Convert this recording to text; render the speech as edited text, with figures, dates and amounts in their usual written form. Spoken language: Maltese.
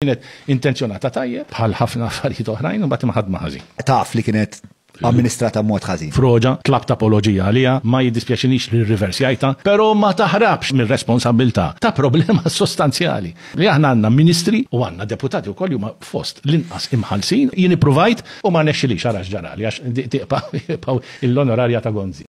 Kienet intenzjonata tajjeb, bħal ħafna affarijiet oħrajn, u mbagħad imħaddma ħażin. Taf li kienet amministrata b'mod ħażin. Froġa, tlabt apoloġija għaliha, ma jiddispjaċinix li rriversjajtha, però ma taħrabx mir-responsabbiltà ta' problema sostanzjali. Li aħna għandna ministri u għandna deputati wkoll li huma fost l-inqas imħallsin. Jien ippruvajt u ma rnexxilix, ara x'ġarali, għax tibqa' l-onorarja ta' Gonzi.